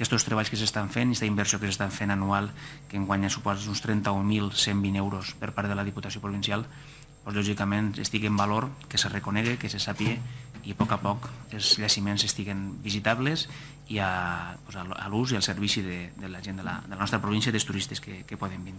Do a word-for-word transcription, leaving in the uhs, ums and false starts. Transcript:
aquests treballs que s'estan fent, aquesta inversió que s'estan fent anual, que enguany suposa uns trenta-un mil cent vint euros per part de la Diputació Provincial, doncs, lògicament estigui en valor, que se reconegui, que se sàpiga i a poc a poc els llaciments estiguen visitables i a, doncs, a l'ús i al servici de, de la gent de la, de la nostra província i dels turistes que, que poden vindre.